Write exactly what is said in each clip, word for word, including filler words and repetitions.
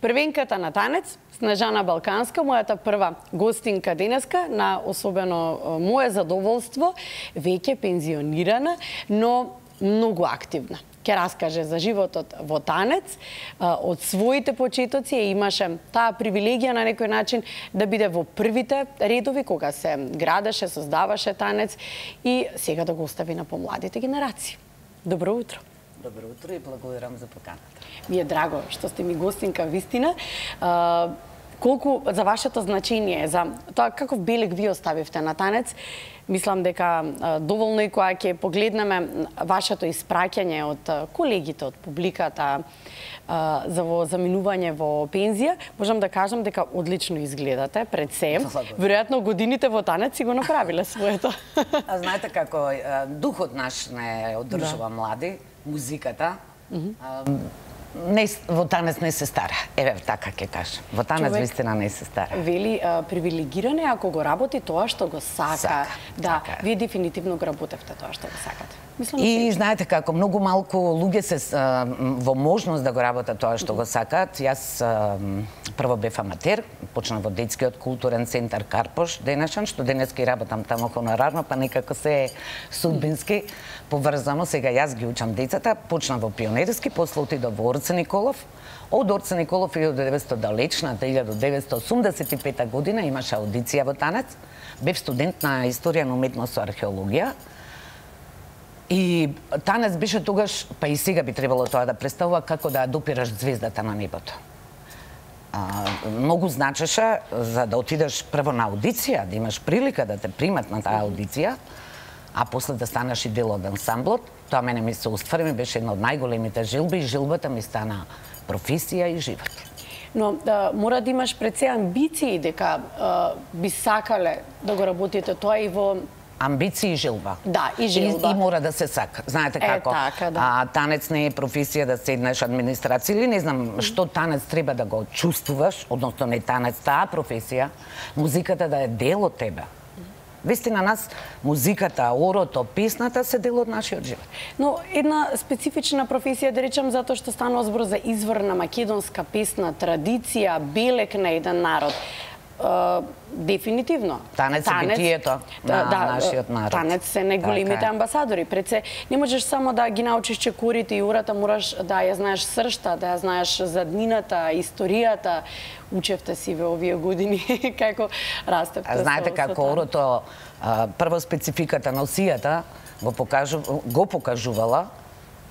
Првенката на танец, Снежана Балканска, мојата прва гостинка денеска, на особено мое задоволство, веќе пензионирана, но многу активна. Ке раскаже за животот во танец, од своите почетоци, и имаше таа привилегија на некој начин да биде во првите редови кога се градеше, создаваше танец и сега да го остави на помладите генерации. Добро утро. Добро утро и благодарам за поканата. Ми е драго што сте ми гостинка вистина. Колку за вашето значение, за тоа каков белег ви оставивте на танец, мислам дека доволно и кога ќе погледнеме вашето испраќање од колегите, од публиката за во заминување во пензија, можам да кажам дека одлично изгледате пред се. Веројатно годините во танец си го направиле своето. А знаете како духот наш не одржува млади, музиката. Не, во танец не се стара. Еве, така ќе кажам. Во танец вистина не се стара. Вели, а, привилегиране ако го работи тоа што го сака. Сака. Да, Така. вие дефинитивно го работевте тоа што го сакате. Мислам, И знаете како, многу малку луѓе се а, во можност да го работат тоа што го сакаат. Јас а, прво бев аматер, почнав во детскиот културен центар Карпош денешен, што денеска и работам таму хонорарно, па некако се е судбински поврзано. Сега јас ги учам децата, почнав во пионерски, после отидов во Орце Николов. Од Орце Николов илјада и деветстотини далечната илјада деветстотини осумдесет и пета година имаше аудиција во танец. Бев студент на историја на уметност и археологија. И танец беше тогаш, па и сега би требало тоа да представува како да допираш звездата на небото. А, многу значеше за да отидеш прво на аудиција, да имаш прилика да те примат на таа аудиција, а после да станеш и дел од ансамблот. Тоа мене ми се уствари, ми беше една од најголемите жилби и жилбата ми стана професија и живот. Но да, мора да имаш пред се амбиции дека а, би сакале да го работите тоа и во Амбиции и жилба. Да, и жилба. И, и мора да се сака. Знаете Е, како? така, да. А, танец не е професија да седнеш администрација или не знам што танец треба да го чувствуваш, односно не танец, таа професија, музиката да е дел од тебе. Вистина нас музиката, орото, песната се дел од нашиот живот. Но една специфична професија, да речем, затоа што станува збор за изворна македонска песна, традиција, белег на еден народ. Uh, дефинитивно. Танец е битието на да, нашиот народ. Танец се најголемите така. амбасадори. Пред се не можеш само да ги научиш чекорите и урата, мораш да ја знаеш сршта, да ја знаеш заднината, историјата. Учевте си во овие години како растевте. Знаете со, како со орото, а, прво спецификата на осијата го покажу, го покажувала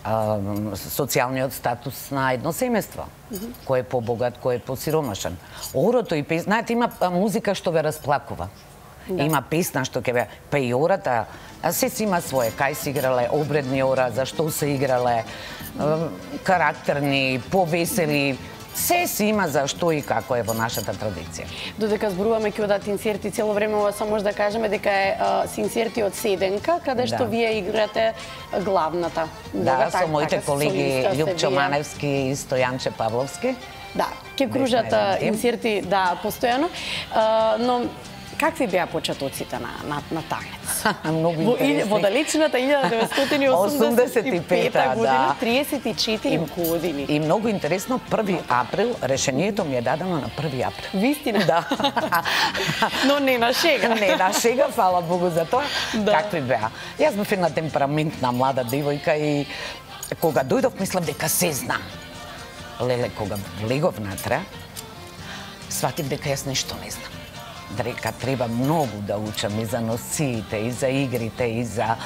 а, социјалниот статус на едно семејство. Mm-hmm. Кој е побогат, кој е посиромашен. Орото и песна, знаете, има музика што ве расплакува. Да. Има песна што ќе ве, па и ората, а се си има свое, кај се играле, обредни ора, зашто се играле, карактерни, повесели, се си има за што и како е во нашата традиција. Додека зборуваме ќе одат инсерти, цело време ова само може да кажеме дека е а, инсерти од Седенка, каде што да. Вие играте главната. Да, Бога, со так, моите така, колеги Љупчо вие. Маневски и Стојанче Павловски. Да, ќе кружат инсерти, да, постојано. А, но какви беа почетоците на, на, на танец? Многу во, интересни. Во далечната илјада деветстотини осумдесет и пета година, триесет и четири години. И многу интересно, први април, решението ми е дадено на први април. Вистина? Да. Но не на шега. Не на шега, фала Богу за тоа. Да. Какви беа? Јас бев една темпераментна млада девојка и кога дојдов мислам дека се знам. Леле, кога влегов натре, сватив дека јас нешто не знам. Дека треба многу да учам и за носиите, и за игрите, и за...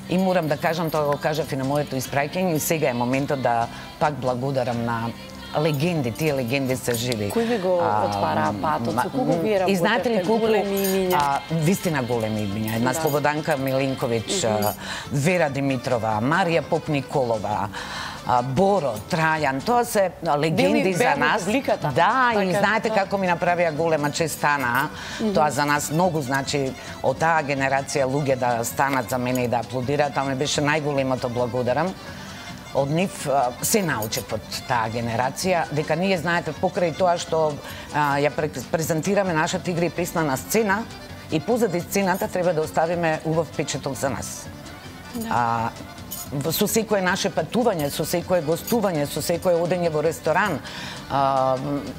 И морам да кажам, тоа го кажав и на моето испраќање, и сега е моментот да пак благодарам на легенди, тие легенди се живи. Кој ви го отвара патот? Со кого вие работевте? И знаете ли колку големи имиња? Вистина големи имиња. Една Да. Слободанка Милинковиќ, mm-hmm. Вера Димитрова, Марија Поп Николова, Боро, Трајан, тоа се легенди Били за нас. Публиката. Да, така, и знаете да. како ми направија голема чест стана. Mm-hmm. Тоа за нас многу значи од таа генерација луѓе да станат за мене и да аплодираат, тоа ми беше најголемото благодарам. Од нив се научев од таа генерација, дека ние знаете покрај тоа што а, ја презентираме нашата игра и песна на сцена и позади сцената треба да оставиме убав печаток за нас. Да. А, со секое наше патување, со секое гостување, со секое одење во ресторан,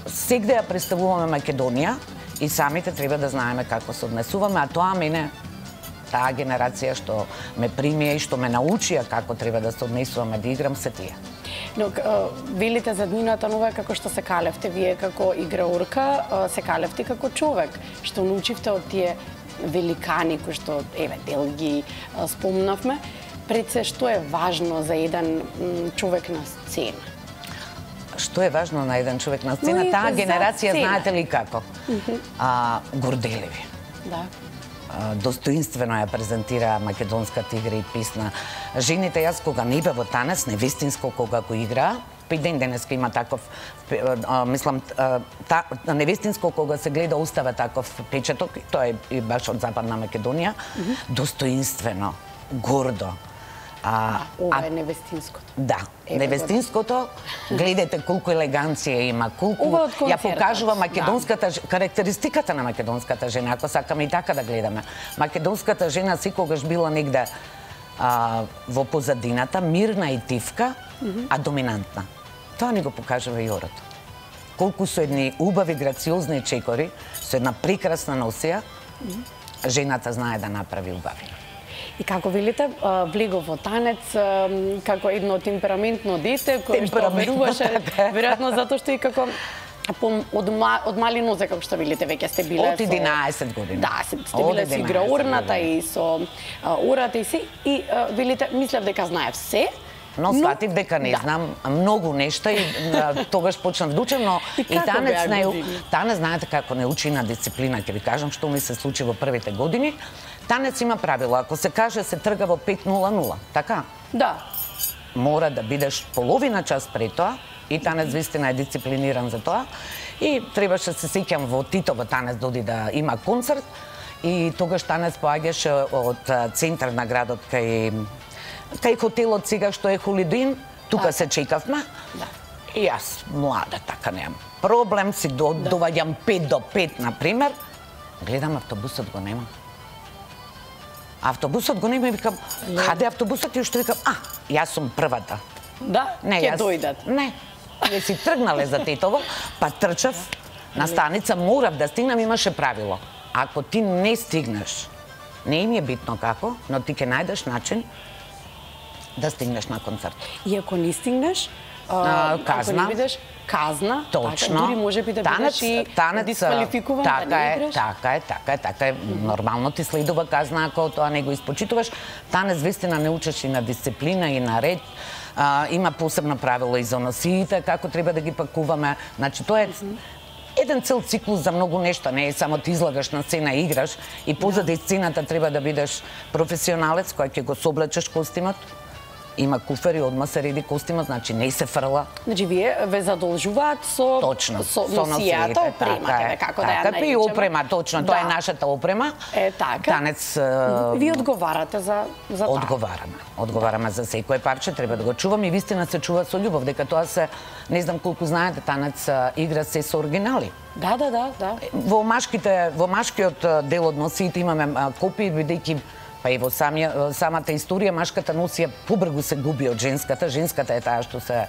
сегде ја представуваме Македонија и самите треба да знаеме како се однесуваме, а тоа мене, таа генерација што ме прими и што ме научија како треба да се однесуваме, да играм, се тие. Но велите за днината нова како што се калевте вие како играурка, се калевте како човек, што научивте од тие великани кои што еве дел ги спомнавме. Пред се, што е важно за еден човек на сцена? Што е важно на еден човек на сцена? Но Таа генерација, сцена. знаете ли како? Mm -hmm. а, горделиви. Да. А, достоинствено ја презентираа македонската игра и песна. Жените, јас кога не бе во танец, невестинско кога го играа, па и ден денеска има таков, а, мислам, а, та, невестинско кога се гледа остава таков печаток, тоа е и баш од Западна Македонија, mm -hmm. достоинствено, гордо. А, ова е невестинското. Да, Еве невестинското, гледате колку елеганција има, колку ја покажува македонската да. карактеристиката на македонската жена, ако сакаме и така да гледаме. Македонската жена секогаш била негде а, во позадината, мирна и тивка, mm -hmm. а доминантна. Тоа ни го покажува и орото. Колку со едни убави, грациозни чекори, со една прекрасна носија, mm -hmm. жената знае да направи убави. И како велите, влегов во танец како едно темпераментно дете кое што веруваше, веројатно затоа што и како од, од мали нозе, како што велите, веќе сте биле од единаесет години. Да, сте биле со играурната и со урата и си, и велите, мислев дека знаев се, но сватив дека не да. знам многу нешта и тогаш почнав да учам, но и, и танец не танец знаете како не учи на дисциплина, ќе ви кажам што ми се случи во првите години. Танец има правило, ако се каже се трга во пет нула нула, така? Да. Мора да бидеш половина час пред тоа и танец вистина е дисциплиниран за тоа. И требаше се сеќам во Титово танец доди да има концерт и тогаш танец поаѓаше од центар на градот кај кај хотелот сега што е Холидин, тука се чекавме. Да. И јас млада така немам проблем, си до, да. доваѓам пет до пет на пример. Гледам автобусот го нема. Автобусот го нема и викам, каде автобусот? И уште викам, а, јас сум првата. Да, ќе дојдат. Не, не си тргнале за Титово, па трчав на станица, морав да стигнам, имаше правило. Ако ти не стигнеш, не им е битно како, но ти ќе најдеш начин да стигнеш на концерт. И ако не стигнеш, а, казна, ако не бидеш казна, точно, така, дури може би да бидеш и дисквалификуван, така да не е, играш. така е, така е, така е, нормално ти следува казна ако тоа не го испочитуваш. Танец вистина не учиш и на дисциплина и на ред. А, има посебно правило и за носиите, како треба да ги пакуваме. Значи, тоа е еден цел циклус за многу нешта, не е само ти излагаш на сцена и играш и позади сцената треба да бидеш професионалец кој ќе го соблечеш костимот. Има куфери, одма се реди костимот, значи не се фрла. Значи вие ве задолжуваат со точно, со носијата, опремата, како да ја наречеме. Така, и опрема, точно, тоа е нашата опрема. Е така. Танец ви одговарате за за таа. Одговараме. Одговараме за секое парче, треба да го чуваме и вистина се чува со љубов, дека тоа се, не знам колку знаете, танец игра се со оригинали. Да, да, да, да. Во машките, во машкиот дел од носиите имаме копии, бидејќи па и во самија, самата историја машката носија побргу се губи од женската, женската е таа што се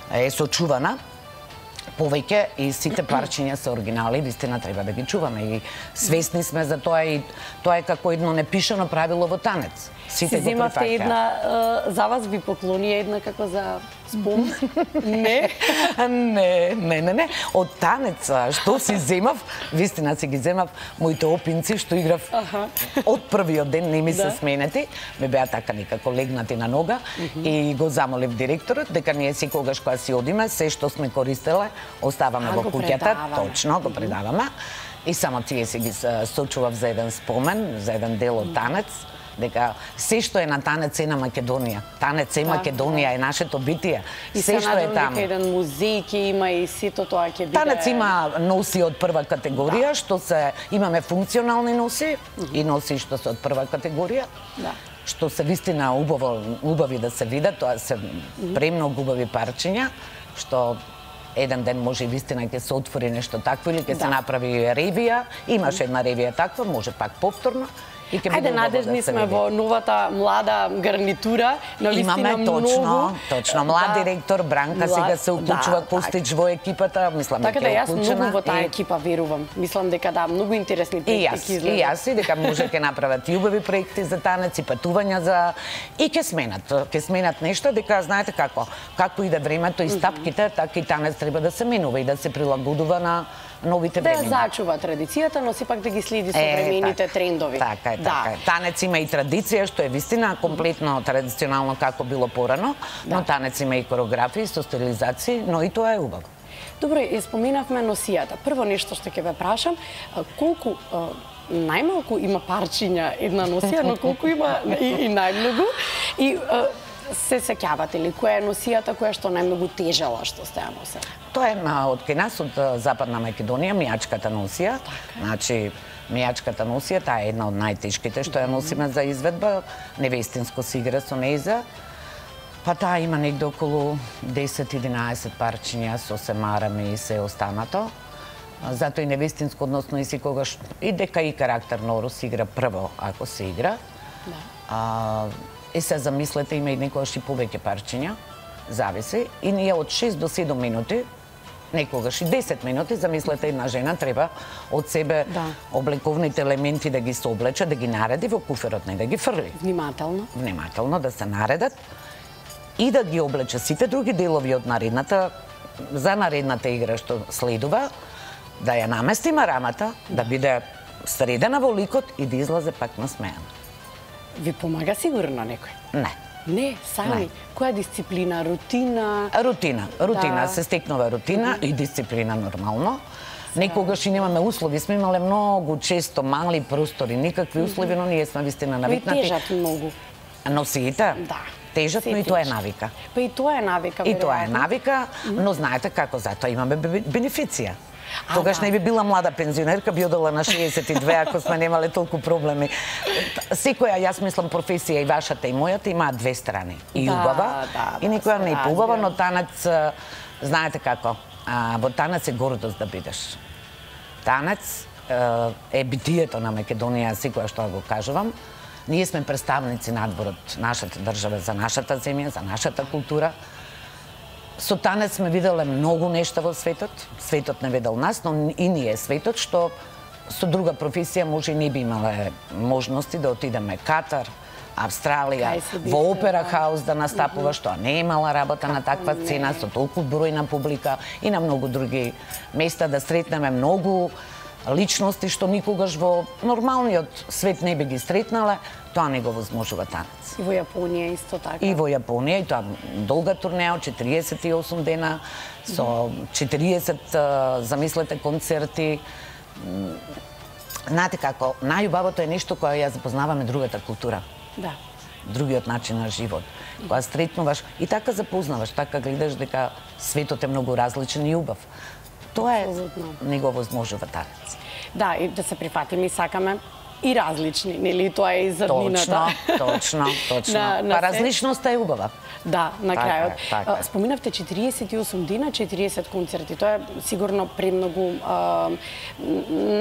е сочувана повеќе и сите парчиња се оригинали, вистина треба да ги чуваме и свесни сме за тоа и тоа е како едно непишано правило во танец. Сите го земавте една, за вас ви поклони една како за спом? Не? Не, не, не, не. Од танец, што си земав, вистина си ги земав, моите опинци што играв ага. од првиот ден, не ми се да. сменети, ме беа така некако легнати на нога uh -huh. и го замолив директорот дека ние секогаш кога си одиме, се што сме користеле, оставаме а, во куќата, точно го предаваме. И само тие си ги сочував за еден спомен, за еден дел од танец, дека се што е на танец е на Македонија. Танец е да, Македонија, да. е нашето битие. И се што е таму. И се еден музеј ќе има и сето тоа ќе биде. Танец има носи од прва категорија, да. што се имаме функционални носи uh -huh. и носи што се од прва категорија. Да. Што се вистина убаво, убави да се видат, тоа се премногу убави парчиња, што еден ден може и вистина ќе се отвори нешто такво или ќе да. се направи ревија. Имаше една ревија таква, може пак повторно. И ќе биде Ајде, убаво надежни да се сме види. во новата млада гарнитура, на вистина Имаме многу. точно, точно млад Да. директор Бранка Млад- сега се уклучува да, Костич во екипата, мислам Така да дека е јас многу уклучена. во таа И- екипа верувам. Мислам дека да, многу интересни И проекти јас, ќе и излезат. јас, и дека може ќе направат и убави проекти за танец и патувања за и ќе сменат, ќе сменат нешто, дека знаете како, како иде времето и стапките, така и танец треба да се менува и да се прилагодува на новите Да ја времена. зачува традицијата, но сепак да ги следи Е, современите така. трендови. Така е, Да. така е. Танец има и традиција, што е вистина комплетно традиционално како било порано, но танец има и коreografии со стилизации, но и тоа е убаво. Добро, ја споменавме носијата. Прво нешто што ќе ве прашам, а, колку а, најмалку има парчиња една носија, но колку има и, и најмногу? И а, се сеќавате ли која е носијата која што најмногу тежела што сте ја носела? Тоа е а, од кај нас, од а, Западна Македонија, мијачката носија. Значи, мијачката носија, таа е една од најтешките што ја носиме за изведба. Невестинско се игра со нејза. Па таа има негде околу десет-единаесет парчиња со се марами и се останато. Затоа и невестинско, односно и секогаш, и дека и карактерно се игра прво, ако се игра. Да. А, е се замислете, има и некогаш и повеќе парчиња, зависи. И ние од шест до седум минути, некогаш и десет минути, замислете една жена треба од себе Да. облековните елементи да ги соблече, да ги нареди во куферот, не да ги фрли. Внимателно. Внимателно да се наредат и да ги облече сите други делови од наредната, за наредната игра што следува, да ја наместиме рамата, да биде средена во ликот и да излезе пак насмеана. Ви помага сигурно некој? Не. Не, сами. Не. Која дисциплина, рутина? Рутина, рутина, Да. се стекнува рутина и дисциплина нормално. Некогаш и немаме услови, сме имале многу често мали простори, никакви услови, но ние сме вистина Ви навикнати. тежат многу. Носиите? Да. Тежат, Се но и тоа е тежат. навика. Па и тоа е навика, И тоа е веројатно. навика, но знаете како, затоа имаме бе- бенефиција. А, Тогаш да. не би била млада пензионерка, би одела на шеесет и две ако сме немале толку проблеми. Секоја, јас мислам, професија и вашата и мојата имаат две страни. И Да, убава, да, и да, никоја се не е поубава, разбирам. но танец, а, знаете како, а, во танец е гордост да бидеш. Танец а, е битието на Македонија, секоја што го кажувам. Ние сме представници надвор од нашата држава, за нашата земја, за нашата култура. Со танец сме виделе многу нешта во светот. Светот не видел нас, но и ние светот, што со друга професија може и не би имале можности да отидеме Катар, Австралија, Кај се во бите, Опера да. хаус да настапува, што не е имала работа на таква не? цена, со толку број на публика и на многу други места да сретнеме многу личности што никогаш во нормалниот свет не би ги сретнале, тоа не го возможува танец. И во Јапонија исто така. И во Јапонија, и тоа долга турнеа, четириесет и осум дена, со четириесет, а, замислете, концерти. М, Знаете како, најубавото е нешто кое ја запознаваме другата култура, Да. другиот начин на живот. Кога сретнуваш и така запознаваш, така гледаш дека светот е многу различен и убав. Тоа е, Апсолутно. не го возможува танец. Да, и да се прифатиме и сакаме и различни, нели? Тоа е и зрнината. Точно, точно, точно. На- на Па се. различноста е убава. Да, на Така крајот. е, така е. А, Споминавте четириесет и осум дена, четириесет концерти. Тоа е сигурно премногу а, м,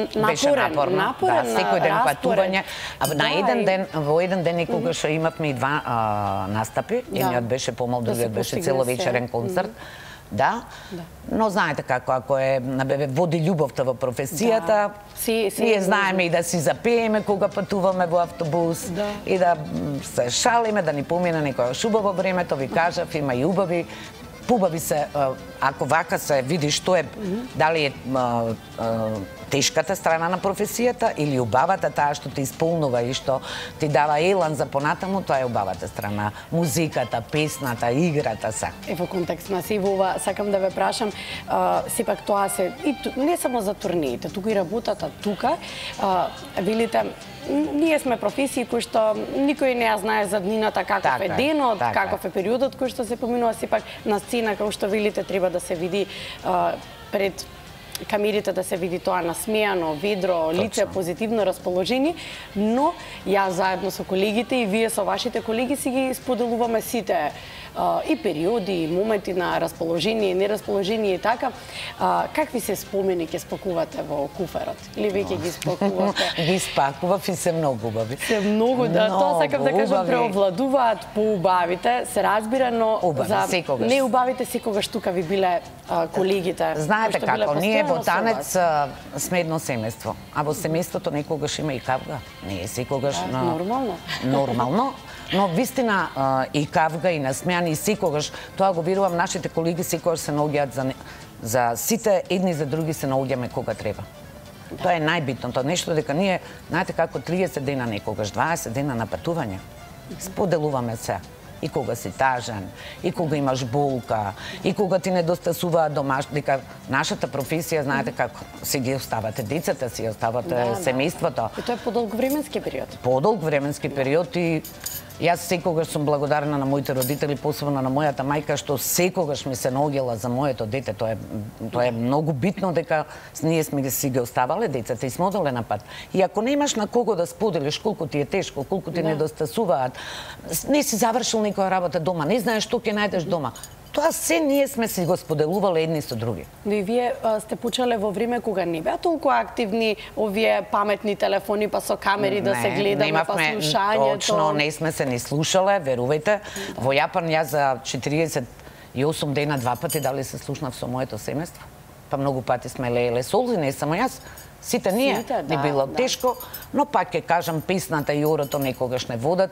напорен, Беше напорно. напорен Да, секој ден распоред. патување. А на Да, еден и- ден, во еден ден некогаш имавме и два а, настапи. Да. Едниот беше помал, Да се другиот беше постигне целовечерен се. концерт. Да. Но знаете како, ако е набеве води љубовта во професијата, Да. Си- си ние е знаеме и да си запееме кога патуваме во автобус Да. и да м, се шалиме, да ни помине некојаш убаво времето, ви кажав, има и убави. Побави се, а, ако вака се види што е, дали е а, а, тешката страна на професијата или убавата, таа што те исполнува и што ти дава елан за понатаму, тоа е убавата страна. Музиката, песната, играта се. Е, во контекст на се ова, сакам да ве прашам, а, сепак тоа се, и ту, не само за турнеите, туку и работата тука, а, велите, м, ние сме професии кои што никој не ја знае за днината, каков Така е е, денот, така каков е периодот кој што се поминува, сепак на сцена, како што велите, треба да се види а, пред камерите да се види тоа насмеано, ведро, лице, позитивно расположение, но ја заедно со колегите и вие со вашите колеги си ги споделуваме сите и периоди, и моменти на расположение, нерасположение и така. Какви се спомени ќе спакувате во куферот? Или веќе ги спакувате? Ги спакував и се многу убави. Се многу, да, тоа сакам да кажам, преовладуваат поубавите, се разбира, но за неубавите секогаш тука ви биле колегите. Знаете како, ние во танец сме едно семејство, а во семејството некогаш има и кавга. Не е секогаш нормално. Нормално. Но вистина и кавга и насмејани и секогаш, тоа го верувам, нашите колеги секогаш се наоѓаат за за сите, едни за други се наоѓаме кога треба. Да. Тоа е најбитното нешто, дека ние, знаете како, триесет дена некогаш, дваесет дена на патување, споделуваме се. И кога си тажен, и кога имаш болка, и кога ти недостасуваат домаш, дека нашата професија, знаете како, си ги оставате децата, си оставате да, семејството. И тоа е подолг временски период. Подолг временски период и јас секогаш сум благодарна на моите родители, посебно на мојата мајка, што секогаш ми се наоѓала за моето дете. Тоа е тоа е многу битно, дека ние сме ги си ги оставале децата и сме одале на пат. И ако немаш на кого да споделиш колку ти е тешко, колку ти да. недостасуваат, не си завршил некоја работа дома, не знаеш што ќе најдеш дома. Тоа се ние сме си го споделувале едни со други. Но и вие а, сте почнале во време кога не беа толку активни овие паметни телефони, па со камери не, да се гледаме, немавме, па слушањето. Точно, не сме се ни слушале, верувајте. Да. Во Јапан ја за четириесет и осум дена два пати дали се слушнав со моето семејство. Па многу пати сме лееле солзи, не само јас. Сите ние, Сите, да, не било да. тешко, но пак ќе кажам, песната и орото некогаш не водат.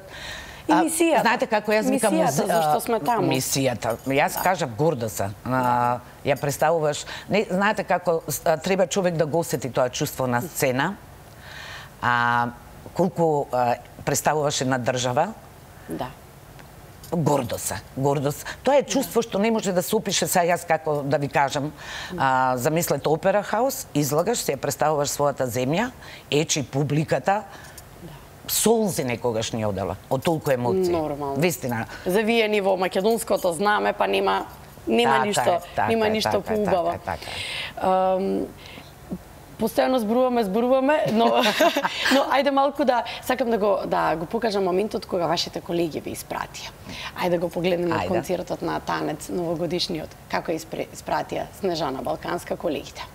И мисијата. Знаете како јас викам мисијата, зашто сме таму. Мисијата. Јас кажав горда се. А, ја представуваш, не знаете како а, треба човек да го осети тоа чувство на сцена. А колку а, представуваш една држава. Да. Гордост, гордост. Тоа е чувство што не може да се опише. Сега јас како да ви кажам, а, замислете опера хаус, излагаш, се представуваш својата земја, ечи публиката, солзи некогаш ни одела, од толку емоции. Нормално. Вистина. Завиени во македонското знаме, па нема нема така ништо, е, така нема е, ништо така е, поубаво. така е, така е. Um, Постојано зборуваме, зборуваме, но но ајде малку да сакам да го да го покажам моментот кога вашите колеги ви испратија. Ајде да го погледнеме ајде. Концертот на танец новогодишниот, како испратија Снежана Балканска колегите.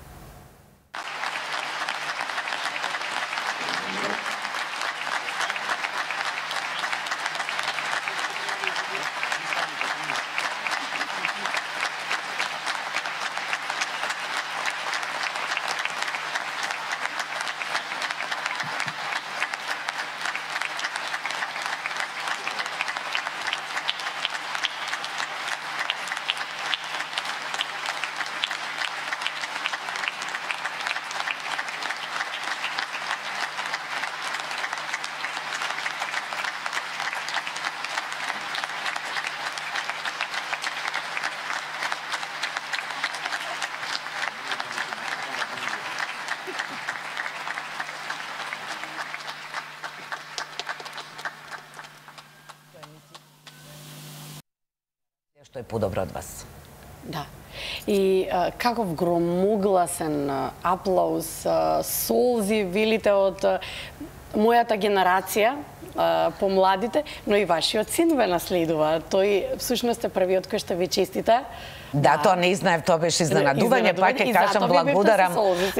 Што е подобро од вас. Да. И а, каков громогласен аплауз, а, солзи, велите од а, мојата генерација, а, помладите, но и вашиот син ве наследува. Тој всушност е првиот кој што ви честита. Да, тоа не знаев, тоа беше изненадување, пак ќе кажам благодарам.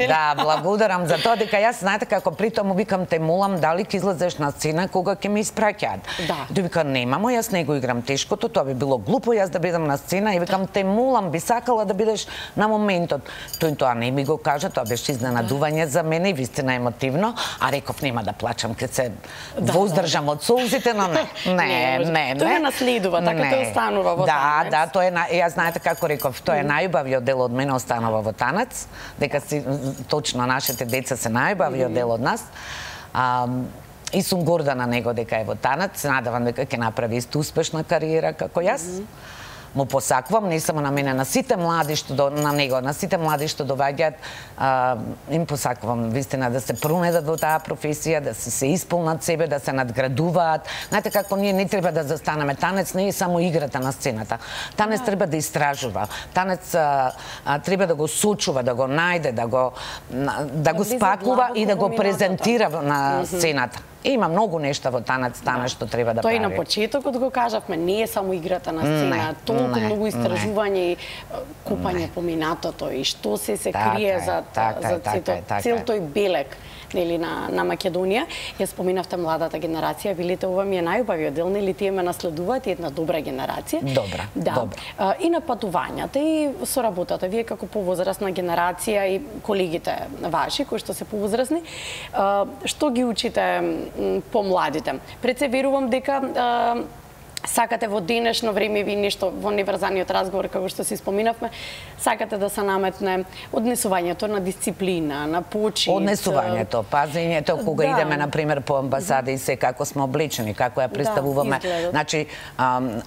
Да, благодарам за тоа дека јас знаете како притом му викам те молам дали ќе излезеш на сцена кога ќе ме испраќаат. Да. Тој вика немамо, јас не го играм тешкото, тоа би било глупо јас да бидам на сцена и викам те молам, би сакала да бидеш на моментот. Тој тоа не ми го кажа, тоа беше изненадување за мене и вистина емотивно, а реков нема да плачам ке се да, воздржам да. од солзите, но не. Не, не, не. Тоа наследува, така тој останува во танец. Да, да, тоа е јас знаете како како реков, тоа е најубавиот дел од мене останува во танец, дека си точно нашите деца се најубавиот дел од нас. А, и сум горда на него дека е во танец, надевам дека ќе направи исто успешна кариера како јас. Му посакувам, не само на мене, на сите млади што до, на него, на сите млади што доаѓаат, им посакувам вистина да се пронедат во таа професија, да се, се исполнат себе, да се надградуваат. Знаете како ние не треба да застанеме, танец не е само играта на сцената. Танец треба да истражува. Танец а, а, треба да го сочува, да го најде, да го да го спакува и да го презентира на сцената. Има многу нешта во танец, танец што треба да прави. Тој на почетокот го кажавме, не е само играта на сцена, толку многу истражување и купање по минатото и што се се крие за за цел тој белег нели на на Македонија. Ја споминавте младата генерација, велите ова ми е најубавиот дел, нели тие ме наследуваат и една добра генерација. Добра, да. добра. И на патувањата и со работата, вие како повозрасна генерација и колегите ваши кои што се повозрасни, што ги учите помладите? Пред се верувам дека сакате во денешно време ви нешто во неврзаниот разговор како што си споминавме, сакате да се наметне однесувањето на дисциплина, на почит. Однесувањето, пазењето кога да. идеме на пример по амбасади и се како сме облечени, како ја представуваме. Да, значи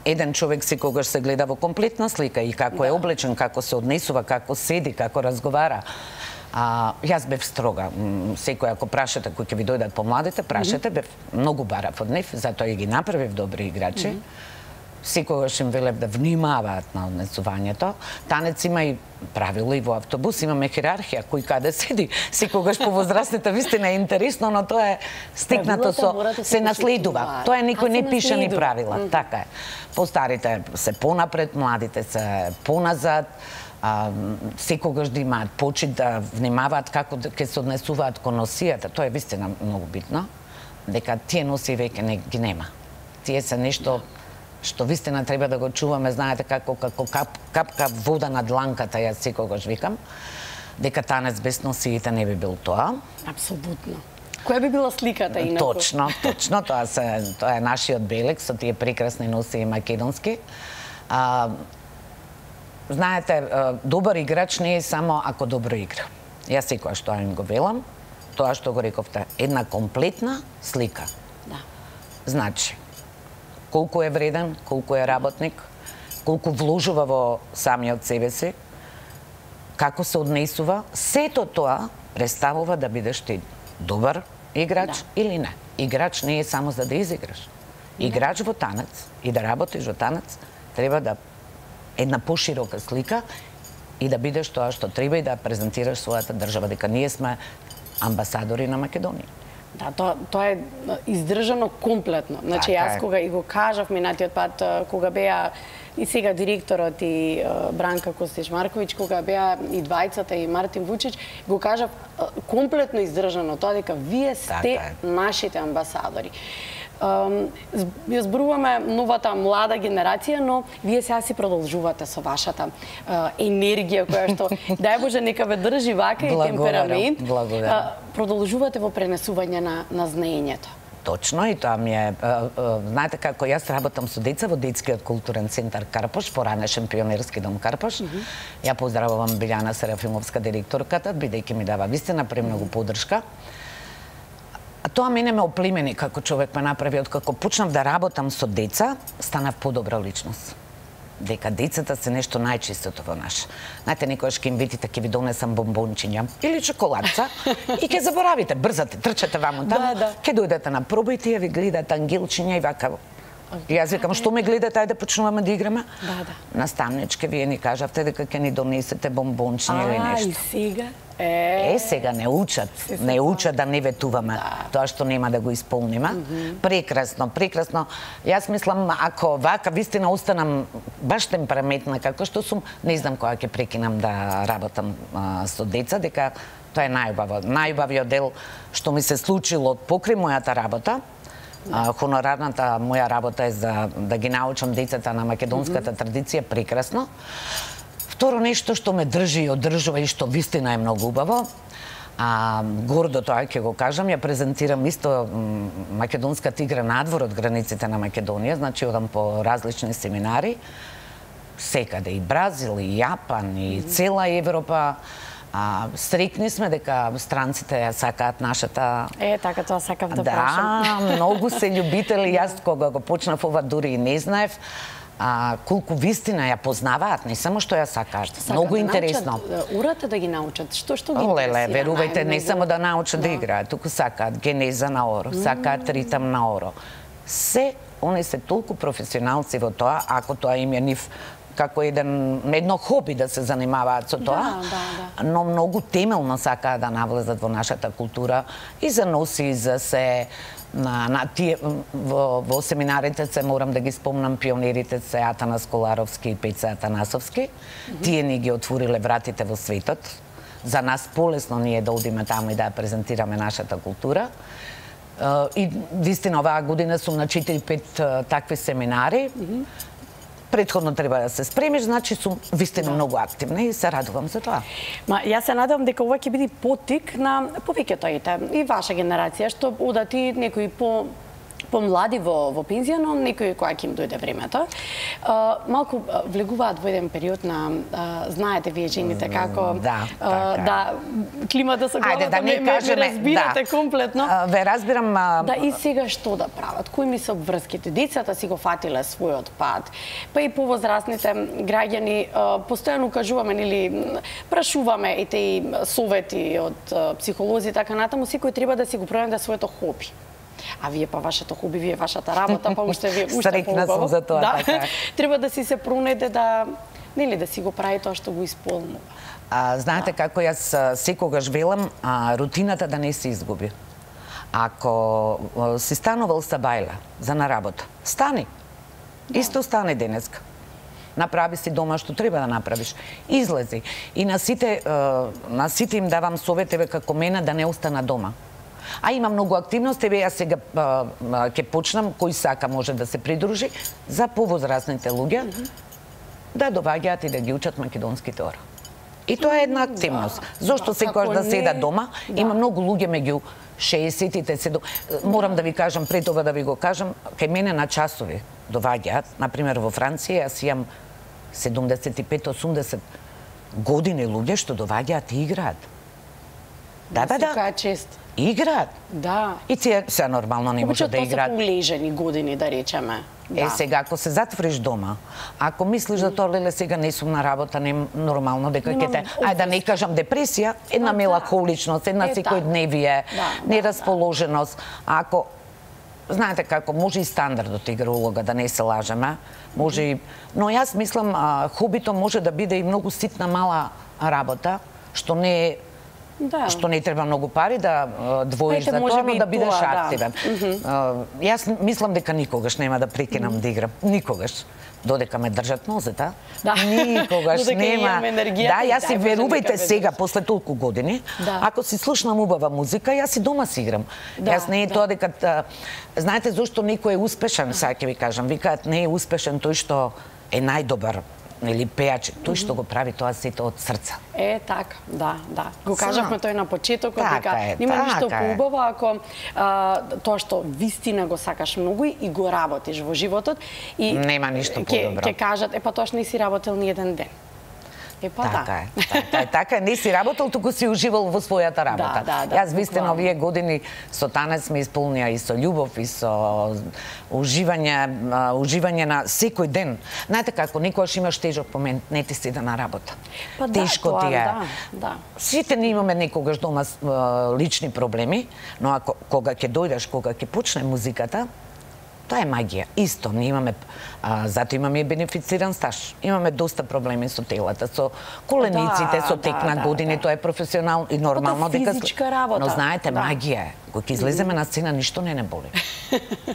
еден човек секогаш се гледа во комплетна слика и како да. е облечен, како се однесува, како седи, како разговара. А, јас бев строга. Секој ако прашате кои ќе ви дојдат помладите, прашате, бев многу барав од нив, затоа и ги направив добри играчи. Mm -hmm. Секогаш им велев да внимаваат на однесувањето. Танец има и правила и во автобус, имаме хиерархија, кој каде седи. Секогаш по возрастните вистина е интересно, но тоа е стикнато со се наследува. Тоа е никој не пише ни правила, mm -hmm. така е. Постарите се понапред, младите се поназад. А, секогаш да имаат почит, да внимаваат како ќе се однесуваат кон носијата. Тоа е вистина многу битно, дека тие носи веќе не ги нема. Тие се нешто што вистина треба да го чуваме, знаете како како кап, капка вода на дланката, јас секогаш викам, дека танец без носиите не би бил тоа. Апсолутно. Која би била сликата инаку? Точно, точно, тоа се тоа е нашиот белег со тие прекрасни носии македонски. А, Знаете, добар играч не е само ако добро игра. Јас секоја што им го велам, тоа што го рековте, една комплетна слика. Да. Значи, колку е вреден, колку е работник, колку вложува во самиот себе си, како се однесува, сето тоа представува да бидеш ти добар играч да. или не. Играч не е само за да изиграш. Играч да. во танец и да работиш во танец треба да една поширока слика и да бидеш тоа што треба и да презентираш својата држава, дека ние сме амбасадори на Македонија. Да, тоа, тоа е издржано комплетно. Значи, јас кога и го кажав минатиот пат, кога беа и сега директорот и Бранка Костич-Марковиќ, кога беа и двајцата и Мартин Вучич, го кажав комплетно издржано тоа дека вие сте нашите амбасадори. Ја зборуваме новата млада генерација, но вие сега си продолжувате со вашата енергија која што, дај Боже, нека ве држи вака и темперамент. Продолжувате во пренесување на, на знаењето. Точно, и тоа ми е, знаете како јас работам со деца во детскиот културен центар Карпош, поранешен пионерски дом Карпош. Mm -hmm. Ја поздравувам Билјана Серафимовска, директорката, бидејќи ми дава вистина премногу поддршка. А тоа мене ме оплемени како човек ме направи, откако почнав да работам со деца, станав подобра личност. Дека децата се нешто најчистото во наш. Знаете, некојаш ќе им видите, ќе ви донесам бомбончиња или чоколадца и ќе заборавите, брзате, трчате ваму таму, да, да. Ќе дојдете на проба и тие ви гледаат ангелчиња и вака. И јас викам, што ме гледате, ајде почнуваме да играме. Да, да. Наставничке, вие ни кажавте дека ќе ни донесете бомбончиња или нешто. А, и сега? Е, е, сега не учат, не учат да не ветуваме да. Тоа што нема да го исполниме. Mm -hmm. Прекрасно, прекрасно. Јас мислам, ако вака вистина останам баш темпераментна како што сум, не знам кога ќе прекинам да работам а, со деца, дека тоа е најубаво. Најубавиот дел што ми се случило покрај мојата работа. А, хонорарната моја работа е за да ги научам децата на македонската mm -hmm. традиција, прекрасно. Второ нешто што ме држи и одржува и што вистина е многу убаво, а, гордо тоа ќе го кажам, ја презентирам исто македонската игра надвор од границите на Македонија, значи одам по различни семинари, секаде и Бразил, и Јапан, и цела Европа. А, стрикни сме дека странците ја сакаат нашата... Е, така тоа сакав да, да прашам. Да, многу се љубители, јас кога го почнав ова дури и не знаев, а, колку вистина ја познаваат, не само што ја сакаат. Што многу да интересно. Научат, урате да ги научат, што што ги интересира? Леле, верувајте, не само да научат да, да играат, туку сакаат генеза на оро, сакаат ритам на оро. Се, они се толку професионалци во тоа, ако тоа им е нив како еден едно хоби да се занимаваат со тоа, да, да, да. но многу темелно сакаат да навлезат во нашата култура и за носи, и за се на, на тие во, во семинарите се морам да ги спомнам пионерите се Атанас Коларовски и Пеца Атанасовски. Mm -hmm. Тие ни ги отвориле вратите во светот. За нас полесно ние да одиме таму и да ја презентираме нашата култура. И вистина оваа година сум на четири-пет такви семинари. Mm -hmm. Претходно треба да се спремиш, значи сум вистина да. многу активна и се радувам за тоа. Ма јас се надевам дека ова ќе биде поттик на повеќето и ваша генерација што одат и некои по помлади во во пензија, но некои која ќе им дојде времето. А, малку влегуваат во еден период на а, знаете вие жените како да, а, да климата со главата да не ме, кажеме, ме разбирате да. комплетно. А, ве разбирам. А... Да, и сега што да прават? Кои ми се обврските? Децата си го фатиле својот пат. Па и повозрастните граѓани а, постојано кажуваме или прашуваме и тие совети од психолози така натаму, секој треба да си го пронајде своето хоби. А вие па вашето хоби, вие вашата работа, па уште вие уште Стрекна сум за тоа, да. така. Треба да си се пронајде да нели да си го прави тоа што го исполнува. А, знаете да. како јас секогаш велам, а, рутината да не се изгуби. Ако а, си станувал са бајла за на работа, стани. Да. Исто стане денеска. Направи си дома што треба да направиш. Излези. И на сите, а, на сите им давам совет, еве како мене, да не остана дома. А има многу активности, еве јас сега ќе почнам, кој сака може да се придружи, за повозрастните луѓе, mm -hmm. да доваѓаат и да ги учат македонските ора. И тоа е една активност. Да, зошто да, секогаш да седат дома? Да. Има многу луѓе меѓу шеесеттите, седум... Морам да ви кажам, пред ова да ви го кажам, кај мене на часови доваѓаат, например во Франција, јас имам седумдесет и пет осумдесет години луѓе што доваѓаат и играат. Да, да, да. Чест. Играат. Да. И тие се нормално не можат да играат. Тоа се полежени години, да речеме. Да. Е, сега, ако се затвориш дома, ако мислиш да тоа леле сега не сум на работа, не нормално дека ќе те, ај да не кажам депресија, една мелахоличност, една е, секојдневие, да, нерасположеност. Ако знаете како може и стандардот игра улога, да не се лажеме, може и, но јас мислам а, хобито може да биде и многу ситна мала работа, што не е Да. Што не треба многу пари да двоиш за тоа, но да бидеш тоа, активен. Да. Mm -hmm. Јас мислам дека никогаш нема да прекинам mm -hmm. да играм. Никогаш. Додека ме држат нозета. Да. Никогаш нема. Да, јас си верувајте сега, после толку години, да. Ако си слушнам убава музика, јас и дома си играм. Да, јас не е да. Тоа дека... Знаете зошто некој е успешен, сега ќе ви кажам. Викаат не е успешен тој што е најдобар или пејач, тој што го прави тоа сето од срца. Е, така, да, да. Го кажавме тој на почетокот, дека нема ништо поубаво ако а, тоа што вистина го сакаш многу и го работиш во животот и нема ништо подобро. Ќе кажат, е па тоа што не си работел ни еден ден. Е, па така да. е, така е, така е, не си работел, туку си уживал во својата работа. Да, да, да, Јас вистина овие години со танец ме исполнија и со љубов и со уживање, уживање на секој ден. Знаете како, никогаш имаш тежок момент, не ти седа на работа. Па Тешко да, ти е. Да, да. Сите не имаме некогаш дома лични проблеми, но ако кога ќе дојдеш, кога ќе почне музиката, тоа е магија. Исто, ние имаме, а, зато имаме и бенефициран стаж. Имаме доста проблеми со телата, со колениците, да, со тек да, на години, да, тоа е професионално и нормално дека физичка работа. Но знаете, да. магија е. Кога ќе излеземе на сцена, ништо не не боли.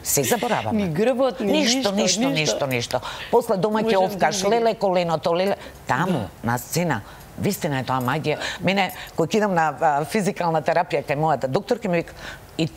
Се забораваме. Ни грбот, ни ништо, ништо, ништо, ништо. После дома ќе овкаш леле коленото, леле таму на сцена. Вистина е тоа магија. Мене кога идам на физикална терапија кај мојата докторка ми вика и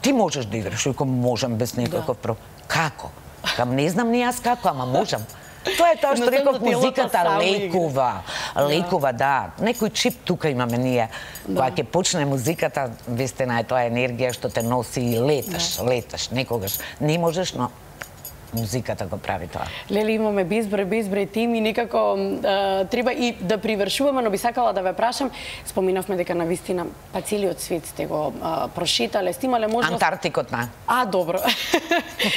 ти можеш да играш, ако можам без никаков да. Проблем. Како? Кам не знам ни јас како, ама можам. Тоа е тоа што реков, музиката лекува. Лекува, да. Некој чип тука имаме ние. Да. Кога ќе почне музиката, вистина е тоа енергија што те носи и леташ, да. Леташ. Некогаш не можеш, но музиката го прави тоа. Леле, имаме безброј, безброј теми, некако е, треба и да привршуваме, но би сакала да ве прашам, споминавме дека на вистина па целиот свет сте го е, прошетале, сте имале можност... Антарктикот, на. А, добро.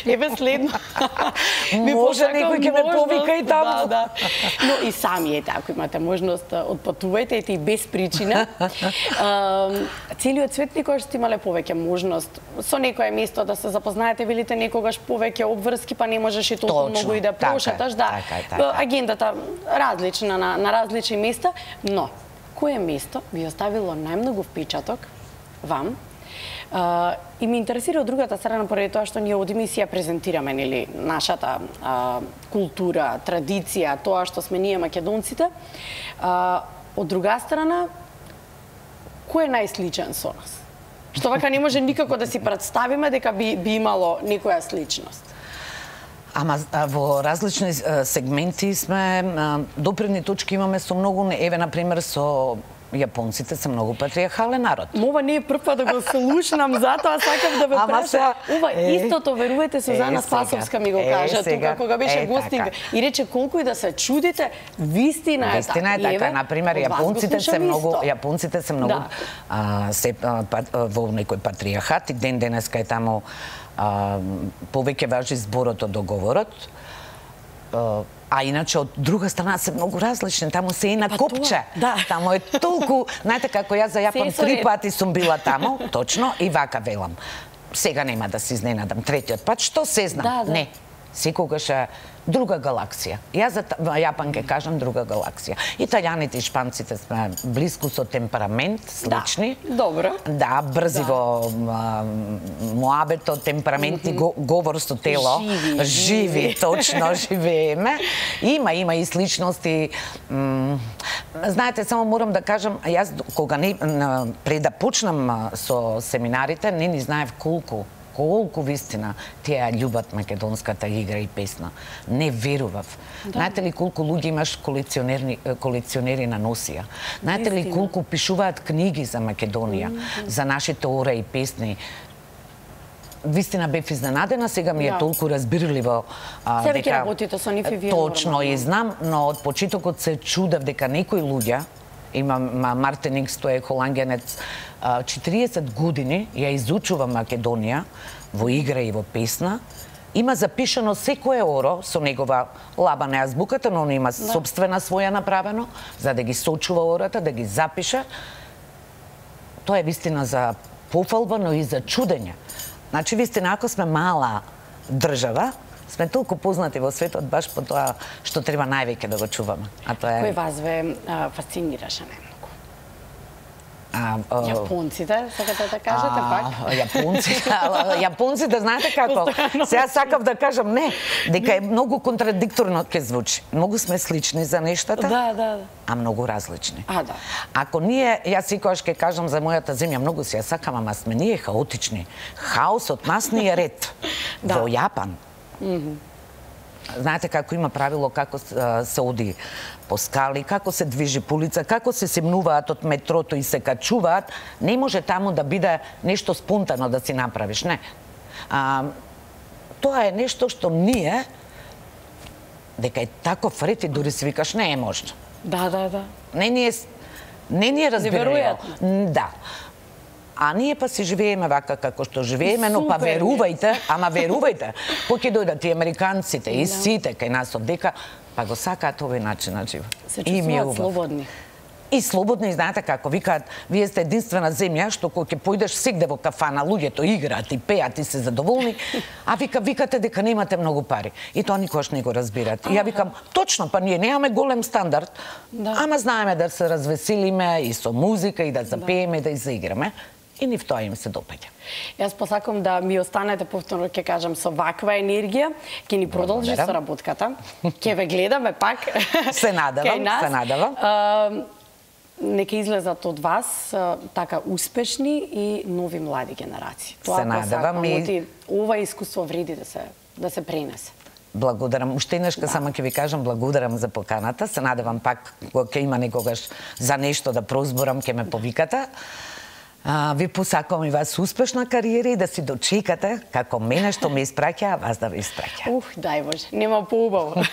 Еве следно. Може некој ќе ме повика и таму. Да, да. Но и сами ете, ако имате можност, отпатувајте, ете и без причина. Е, целиот свет никогаш сте имале повеќе можност со некое место да се запознаете, велите некогаш повеќе обврски, па па не можеш и толку многу и да прошеташ, да. Така, така. Агендата различна на, на различни места, но кое место ви оставило најмногу впечаток вам? Uh, и ме интересира од другата страна, поради тоа што ние од емисија презентираме нели нашата uh, култура, традиција, тоа што сме ние македонците. Uh, од друга страна, кој е најсличен со нас? Што вака не може никако да си представиме дека би, би имало некоја сличност. Ама во различни сегменти сме, допирни точки имаме со многу, еве на пример со јапонците се многу патриархален народ. Ова не е прв пат да го слушнам, затоа сакам да ве прашам. Ова истото, верувате, Сузана Спасовска ми го кажа тука кога беше гостинг и рече колку и да се чудите, вистина е Вистина е така, на пример јапонците се многу, јапонците се многу се во некој патриархат и ден денеска е таму повеќе важи зборот од договорот. А иначе од друга страна се многу различни, таму се и на па копче. Да. Таму е толку, знаете како јас за Јапон три пати сум била таму, точно, и вака велам. Сега нема да се изненадам третиот пат, што се знам? Да, да. Не, секогаш е друга галаксија. Јас за Јапан ќе кажам друга галаксија. Италијаните и шпанците сме блиску со темперамент, слични. Да, добро. Да, брзи да. Во муабето, темперамент и го, говор со тело. Живи, живи, живи. Точно, живееме. Има, има и сличности. Знаете, само морам да кажам, јас кога не, пред да почнам со семинарите, не ни знаев колку колку вистина тие љубат македонската игра и песна. Не верував. Да. Знаете ли колку луѓе имаш колекционери, колекционери на носија? Знаете ли колку пишуваат книги за Македонија, mm -hmm. за нашите ора и песни? Вистина бев изненадена, сега ми е да. толку разбирливо. Се веќе работите со нив и вие. Точно и знам, но од почетокот се чудев дека некои луѓе, има Мартин Икс, тој е холандјанец, четириесет години ја изучува Македонија во игра и во песна. Има запишано секое оро со негова лаба на азбуката, но он има да. собствена своја направено, за да ги сочува ората, да ги запише. Тоа е вистина за пофалба, но и за чудење. Значи, вистина, ако сме мала држава, сме толку познати во светот баш по тоа што треба највеќе да го чуваме. А тоа е... Кој вас ве а, фасцинираше најмногу? Јапонците, сакате да кажете пак? Јапонците, јапонците, знаете како? Сега сакав да кажам не, дека е многу контрадикторно ќе звучи. Многу сме слични за нештата, да, да, а многу различни. А, да. Ако ние, јас секогаш ќе кажам за мојата земја, многу си ја сакам, ама сме ние хаотични. Хаосот нас ни е ред. Да. Во Јапан. Mm -hmm. Знаете како има правило како се оди по скали, како се движи по улица, како се семнуваат од метрото и се качуваат, не може таму да биде нешто спонтано да си направиш, не. А, тоа е нешто што ние, дека е таков ред и дури си викаш, не е можно. Да, да, да. Не ни е, не ни е разбираемо. Да. А ние па си живееме вака како што живееме, но па верувајте, ама верувајте, кога ќе дојдат и американците и сите кај нас од дека, па го сакаат овој начин на живот. Се чувствуваат слободни. И слободни, знаете како, викаат, вие сте единствена земја што кога ќе појдеш сегде во кафана, луѓето играат и пеат и се задоволни, а вика викате дека немате многу пари. И тоа никош не го разбират. И ја викам, точно, па ние немаме голем стандард, да. ама знаеме да се развеселиме и со музика и да запееме, да, да и заиграме. И нив тоа им се допаѓа. Јас посакам да ми останете, повторно ќе кажам, со ваква енергија, ќе ни продолжи со работката, ќе ве гледаме пак. Се надавам, се надавам. Uh, нека излезат од вас uh, така успешни и нови млади генерации. Тоа се надавам и ова искуство вреди да се да се пренесе. Благодарам. Уште еднаш да. само ќе ви кажам благодарам за поканата. Се надевам пак кога ќе има некогаш за нешто да прозборам, ќе ме повикате. А, ви посакувам и вас успешна кариера и да си дочекате како мене што ме испраќа, а вас да ви испраќа. Ух, дај Боже, нема поубаво.